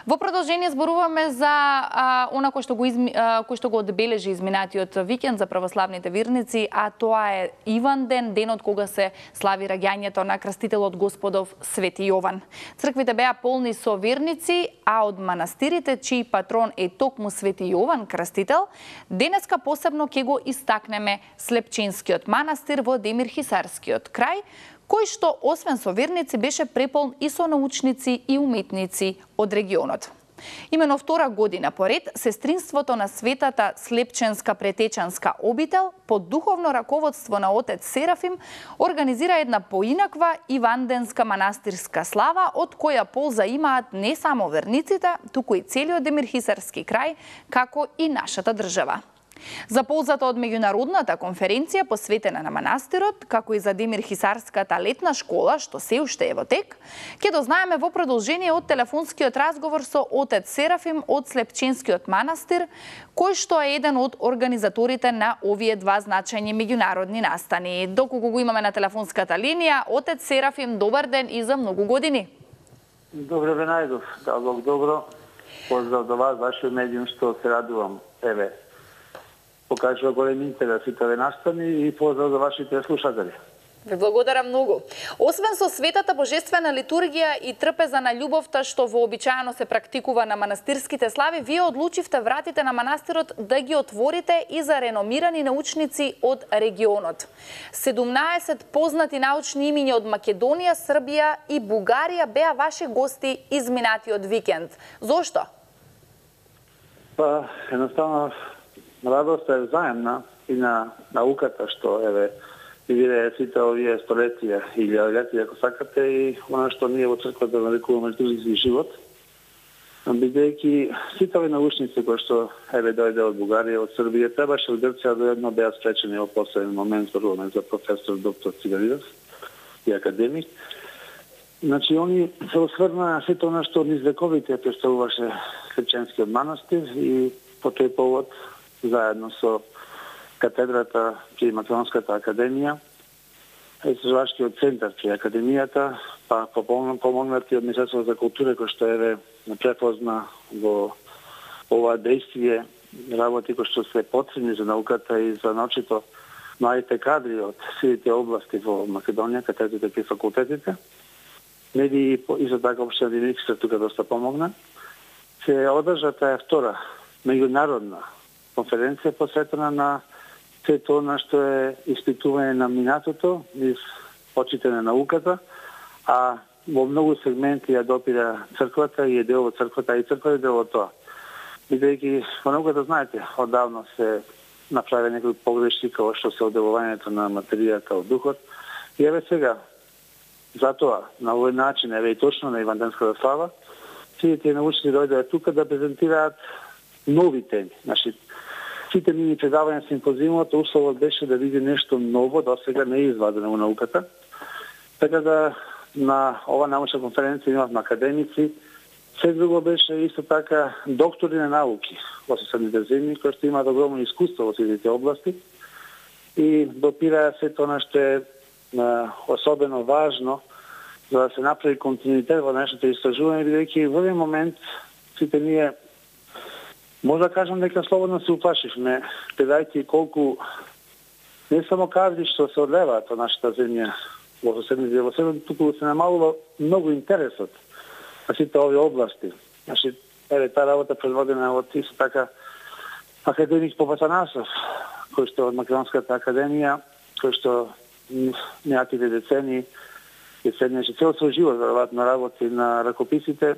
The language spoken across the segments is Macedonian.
Во продолжение зборуваме за она кој што го одбележи изминатиот викенд за православните верници, а тоа е Иван ден, денот кога се слави раѓањето на крстителот Господов Свети Јован. Црквите беа полни со верници, а од манастирите чиј патрон е токму Свети Јован Крстител, денеска посебно ќе го истакнеме Слепченскиот манастир во Демир-Хисарскиот крај, кој што освен со верници беше преполн и со научници и уметници од регионот. Имено втора година поред, сестринството на Светата Слепченска претечанска обител под духовно раководство на отец Серафим организира една поинаква иванденска манастирска слава, од која полза имаат не само верниците, туку и целиот Демир-Хисарски крај, како и нашата држава. За ползата од меѓународната конференција посветена на манастирот, како и за Демир-Хисарската летна школа, што се уште е во тек, ќе дознаеме во продолжение од телефонскиот разговор со отец Серафим од Слепченскиот манастир, кој што е еден од организаторите на овие два значајни меѓународни настани. Доколку го имаме на телефонската линија, отец Серафим, добар ден и за многу години. Добре ве најдов, да Бог добро. Поздрав до вас, вашиот медиум, што се радувам. Еве, покажува голем интерес и овие настани и поздрав за вашите слушатели. Ве благодарам многу. Освен со светата божествена литургија и трпеза на љубовта што вообичаено се практикува на манастирските слави, вие одлучивте вратите на манастирот да ги отворите и за реномирани научници од регионот. 17 познати научни имиња од Македонија, Србија и Бугарија беа ваши гости изминатиот викенд. Зошто? Па, едноставно, радоста е взаемна и на науката, што еве вие сите овие столетија или летија, ако сакате, и она што ние во црквата нарекуваме литургиски живот, бидејќи сите овие научници кои што еве дојде од Бугарија, од Србија, требаше од Грција доедно беа спречени во посебен момент, зборуваме за професор доктор Циганидис и академик. Значи, они се осврнаа на сето она што низ вековите представуваше Слепченскиот манастир и по тој повод заедно со катедрата при Македонската академија, Истражувачкиот центар при академијата, па помогнати од Министерството за култура, кој што еве препозна во ова действие работи кои што се потребни за науката и за научито младите кадри од сите области во Македонија, катедрите при факултетите. Медии и за така општина Демир-Хисар тука доста помогна. Се одржа таа втора меѓународна конференција посветена на сето она што е испитување на минатото низ очите на науката, а во многу сегменти ја допира црквата и е дел од црквата, и црква е дел од тоа. Бидејќи во науката, знаете, одавно се направи некои погрешки како што се одделувањето на материјата од духот. И еве сега, затоа, на овој начин, еве и точно на Иванденската слава, сите научници дојдоа тука да презентираат нови теми. Значи, сите мини предавања симпозиумот, условот беше да види нешто ново, досега не е извадено во науката. Така да на ова научна конференција имавме академици, се друго беше исто така доктори на науки во соседните земји, кои што имаат огромно искуство во сите области и допираа сето она што е особено важно за да се направи континуитет во нашите истражување, бидејќи во еден момент сите ние може да кажам дека слободно се уплашивме, гледајќи колку не само кадри што се одлеваат од нашата земја во соседните, туку се намалува многу интересот на сите овие области. Значи, еве таа работа предводена од исто така академик Попатанасов, кој што од Македонската академија, кој што неаките децени цел свој живот веројатно работи на ракописите.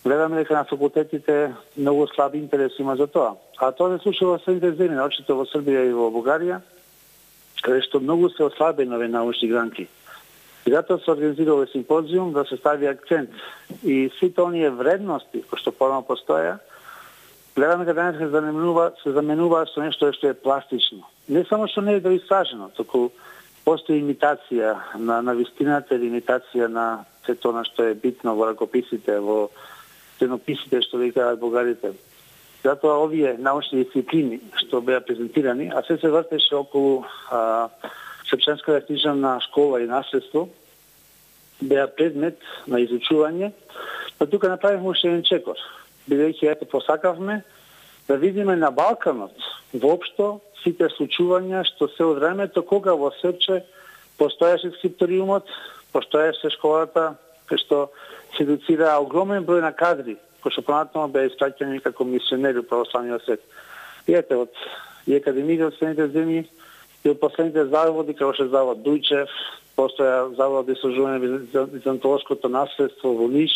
Гледаме дека на факултетите многу слаб интерес има за тоа. А тоа се случува во средните земји, очито во Србија и во Бугарија, каде што многу се ослабени овие научни гранки. И затоа се организира овој симпозиум да се стави акцент и сите оние вредности кои што порано постоја, гледаме дека денес се заменува со нешто што е пластично. Не само што не е доисажено, туку постои имитација на вистината или имитација на сето она што е битно во ракописите, во стенописите што викаат бугарите. Затоа овие научни дисциплини што беа презентирани, а се вртеше околу Слепченската книжевна школа и наследство, беа предмет на изучување Па тука направивме уште еден чекор. Бидејќи ето посакавме да видиме на Балканот воопшто сите случувања што се од времето кога во Српче постоеше скрипториумот, постоеше школата, кај што се едуцира огромен број на кадри, кои што понатаму беа испраќани како мисионери во православниот свет. И ете, од академиите од Средните земји и од последните заводи, како што завод Дујчев, постоја завод за истражување за византолошкото наследство во Ниш,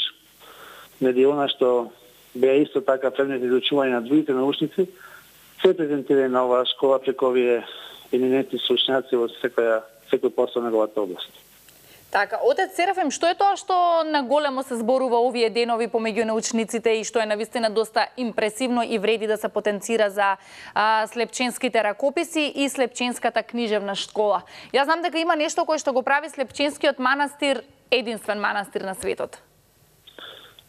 медиона што беа исто така предмет изучување на другите научници, се презентира на оваа школа преку овие еминентни случњаци во секој посол на неговата област. Така, отец Серафим, што е тоа што наголемо се зборува овие денови помеѓу научниците и што е навистина доста импресивно и вреди да се потенцира за Слепченските ракописи и Слепченската книжевна школа? Јас знам дека има нешто кое што го прави Слепченскиот манастир единствен манастир на светот.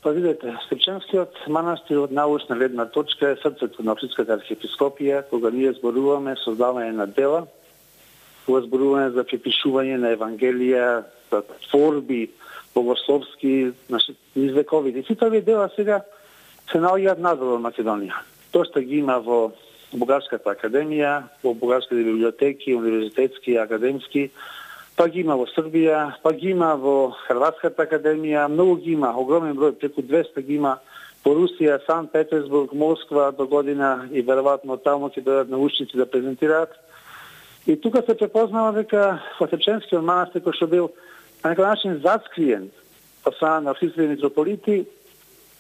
Па видете, Слепченскиот манастир од научна гледна точка е срцето на Охридската архиепископија, кога ние зборуваме создавање на дела, кога зборуваме за препишување на Евангелија, за творби богословски, низ вековите. И сите овие дела сега се наоѓаат надвор во Македонија. Тоа ги има во Бугарската академија, во бугарските библиотеки, универзитетски, академски, па ги има во Србија, па ги има во Хрватската академија, многу ги има, огромен број, преку 200 ги има во Русија, Санкт Петерсбург, Москва до година и веројатно таму ќе дојдат научници да презентираат. И тука се препознава дека во Слепченскиот манастир, кој што бил на некој начин зацкриен од страна на охридските митрополити,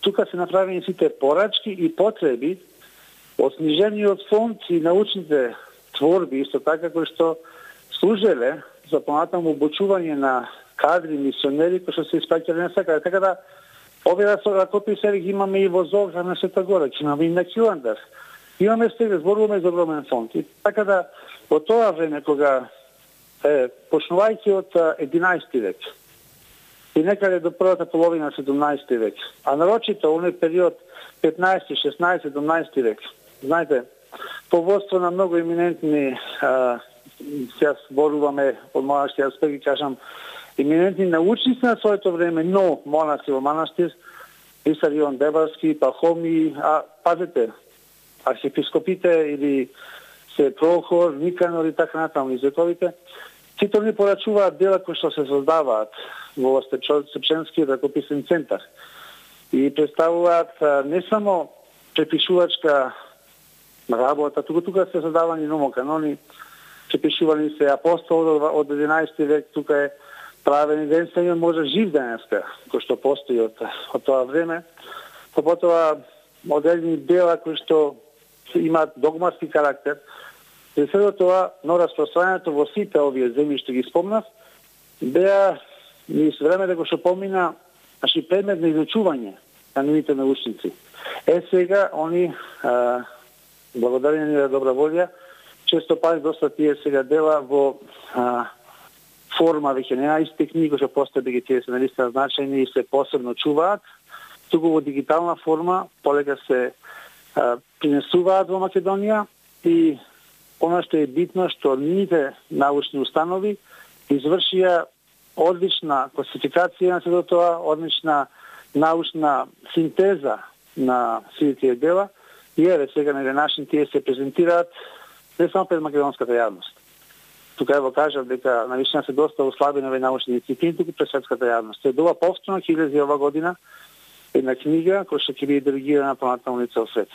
тука се направени сите порачки и потреби од снижениот фонд и научните творби, исто така кои што служеле за понатаму обучување на кадри, мисионери кои што се испраќале насекаде. Така да, овие ракописи ги имаме и во Зоград на Света Гора, ги имаме и на Киландар. Имаме сега, зборуваме за огромен фонд. И така да, во тоа време, кога почнувајќи од 11 век и некаде до првата половина 17 век, а нарочито оној период 15, 16, 17 век, знаете, по водство на многу еминентни, сега зборуваме од монашки аспект, ги кажам, еминентни научници на своето време, но монаси во манастир, Исар Ион Дебарски, Пахоми, а пазете, архиепископите или се Прохор, Никанор и така натаму из вековите, сите они порачуваат дела кои што се создаваат во Слепченскиот ракописен центар и представуваат не само препишувачка работа, тука се создавани номоканони, препишувани се апостол од 11 век, тука е правен единствен може жив денеска, кој што постои од тоа време. Потоа одредени дела кои што имаат догматски карактер. И сега тоа, но распространението во сите овие земји што ги спомнав, беа низ времето кој што помина, значи предмет на изучување на нивните научници. Сега они благодарение на добра волја, често пати доста тие сега дела во форма веќе не исти книги што постои дека тие се наистина значајни и се посебно чуваат, туку во дигитална форма полека се принесуваат во Македонија и она што е битно што нивните научни установи извршија одлична класификација на сето тоа, одлична научна синтеза на сите тие дела и еве сега на денашни тие се презентираат не само пред македонската јавност. Тука ево кажав дека навистина се доста ослабени овие научни дисциплини туку пред светската јавност. Се дова повторно ќе излезе ова година една книга која ќе биде делегирана понатаму на цел свет.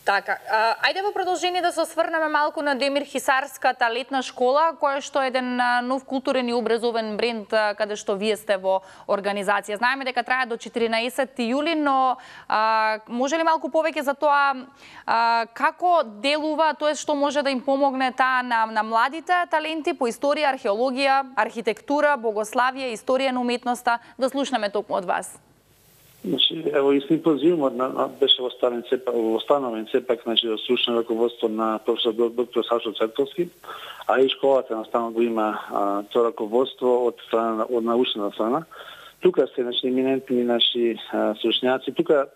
Така, ајде во продолжение да се осврнеме малку на Демир Хисарската летна школа, која што е еден нов културен и образовен бренд каде што вие сте во организација. Знаеме дека трае до 14 јули, но може ли малку повеќе за тоа како делува, тоа што може да им помогне таа на младите таленти по историја, археологија, архитектура, богославие, историја на уметноста, да слушнеме токму од вас. Значи, ево и симпозиумот беше остановен сепак, значи, од стручно раководство на професор доктор Сашо Цветковски, а и школата наставно го има тоа раководство од научната страна. Тука се, значи, еминентни наши стручњаци. Тука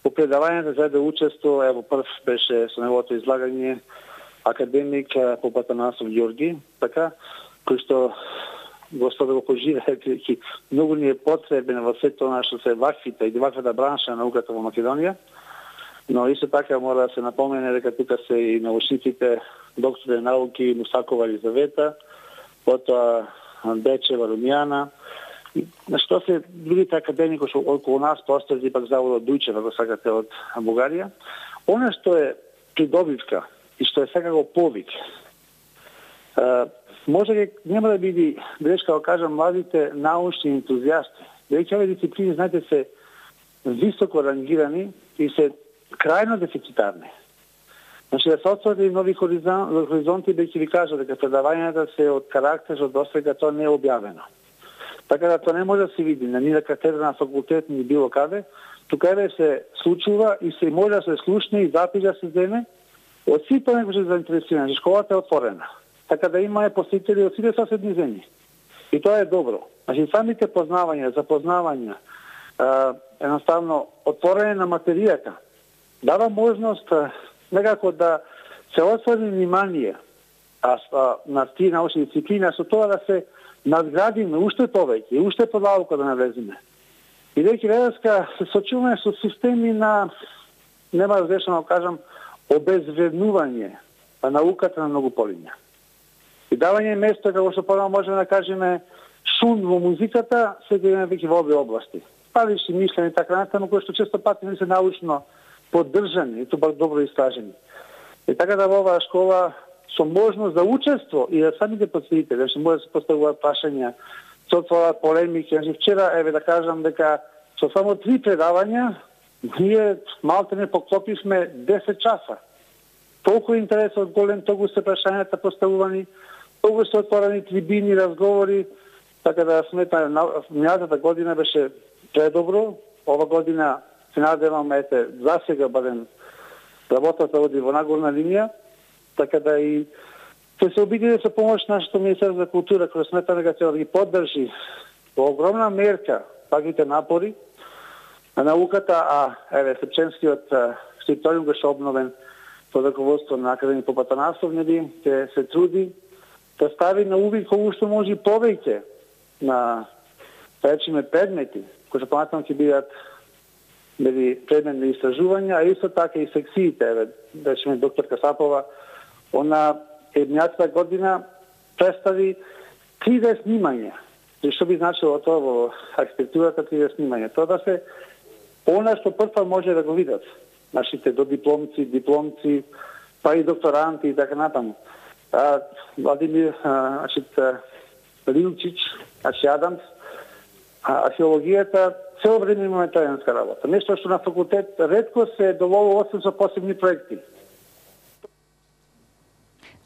по предавањето за да учество, ево прв беше со неговото излагање академик Попатанасов Ѓорги, така, кој што Господа го поживее, бидејќи многу ни е потребен во сето она што се ваквите и ваквата бранша на науката во Македонија. Но исто така мора да се напомене дека тука се и научниците, доктори науки Мусакова Елизавета, потоа Бечева Румјана, на што се другите академики што околу нас постои пак заводот Дујчев, ако сакате, од Бугарија. Она што е придобивка и што е секако повик, може нема да биде грешка да кажам младите научни ентузијасти, бидејќи овие дисциплини, знаете, се високо рангирани и се крајно дефицитарни. Значи да се отвори нови хоризонти, бидејќи ви кажа дека предавањата се од карактер што досега тоа не е објавено. Така да тоа не може да се види на нива катедра на факултет ни било каде, тука еве се случува и се може да се слушне и запис да се земе од сите оние кои се заинтересирани. Школата е отворена. Така да има посетители од сите соседни земји. И тоа е добро. Значи самите познавања, запознавања, едноставно отворење на материјата дава можност некако да се отвори внимание на тие научни дисциплини, со тоа да се надградиме уште повеќе и уште подалку да навлеземе. Бидејќи веднеска се сочуваме со системи на, нема разрешено да кажам, обезвреднување на науката на многу полиња. И давање место, како што порано можеме да кажеме, шум во музиката, сега имаме веќе во овие области. Палиши мислени и така натаму, кои што често пати не се научно поддржани и тоа добро истражени. И така да во оваа школа со можност за учество и да самите посетители, значи може да се поставуваат прашања, се отворат полемики. Значи вчера, еве да кажам дека со само 3 предавања ние малку не поклопивме 10 часа. Толку интересот голем, толку се прашањата поставувани, толку се отворени трибини, разговори, така да сметам, минатата година беше предобро, ова година се надевам, ете, за сега барем работата оди во нагорна линија, така да и се обиди со помош нашето Министерство за култура, кој сметам дека ќе да ги поддржи во огромна мерка таквите напори на науката, а еве Сепченскиот скрипториум беше обновен под раководство на академик Попатанасов, ќе се труди да стави на увид колку што може повеќе на речиме предмети, кои што понатаму ќе бидат предмет на истражувања, а исто така и секциите, еве, речиме доктор Касапова, она еднината година представи 3D снимање. И што би значило тоа во архитектурата 3D снимање? Тоа да се она што прва може да го видат нашите дипломци, па и докторанти и така натаму. Владимир Лилчич, Адамс, археологијата, цело време имаме тајанска работа. Нешто што на факултет ретко се доволува освен со посебни проекти.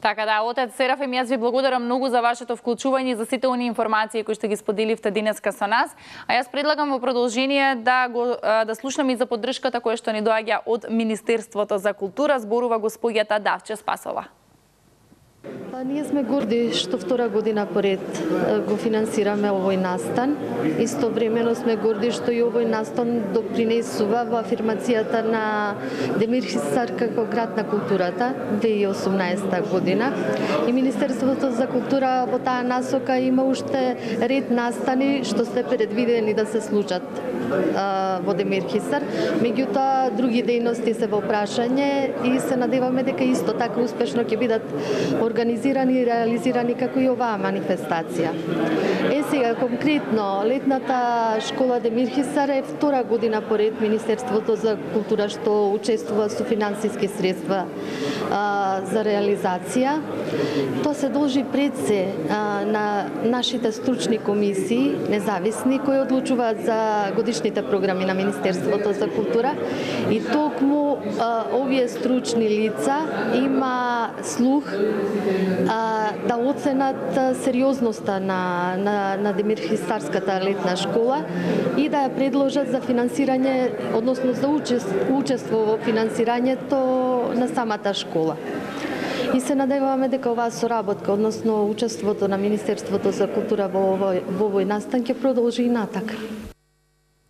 Така да, отец Серафим, јас ви благодарам многу за вашето вклучување и за сите оние информации кои што ги споделивте денеска со нас. А јас предлагам во продолжение да слушнеме и за поддршката која што ни доаѓа од Министерството за култура, зборува госпоѓата Давче Спасова. Ние сме горди што втора година поред го финансираме овој настан. Истовремено сме горди што и овој настан допринесува во афирмацијата на Демир Хисар како град на културата 2018 година. И Министерството за култура во таа насока има уште ред настани што се предвидени да се случат во Демир Хисар. Меѓутоа, други дејности се во прашање и се надеваме дека исто така успешно ќе бидат организирани и реализирани како и оваа манифестација. Сега конкретно летната школа Демир Хисар е втора година поред Министерството за култура што учествува со финансиски средства за реализација. Тоа се должи пред се на нашите стручни комисии, независни, кои одлучуваат за годишните програми на Министерството за култура и токму овие стручни лица има слух да оценат сериозноста на Демир Хисарската летна школа и да ја предложат за финансирање, односно за учество во финансирањето на самата школа. И се надеваме дека оваа соработка, односно учеството на Министерството за култура во овој настан ќе продолжи и натака.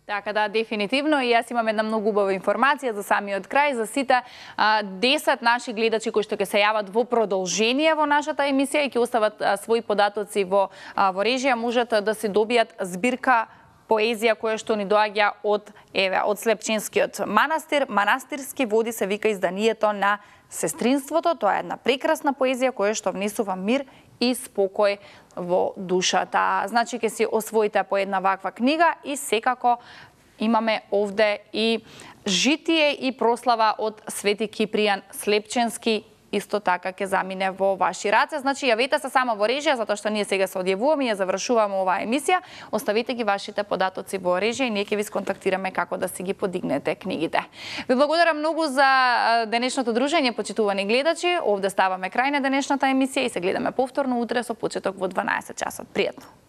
Така да, дефинитивно. И јас имам една многу убава информација за самиот крај, за сите 10 наши гледачи кои што ќе се јават во продолжение во нашата емисија и ќе остават своји податоци во режија, можат да се добијат збирка поезија која што ни доаѓа од Слепченскиот манастир. Манастирски води се вика изданието на сестринството. Тоа е една прекрасна поезија која што внесува мир и спокој во душата. Значи, ќе си освоите по една ваква книга и секако имаме овде и житие и прослава од Свети Кипријан Слепченски, исто така ќе замине во ваши раце. Значи, јавете се само во режија, затоа што ние сега се одјавуваме и ја завршуваме оваа емисија. Оставете ги вашите податоци во режија и ние ќе ви сконтактираме како да си ги подигнете книгите. Ви благодарам многу за денешното дружење, почитувани гледачи. Овде ставаме крај на денешната емисија и се гледаме повторно утре со почеток во 12 часот. Пријатно!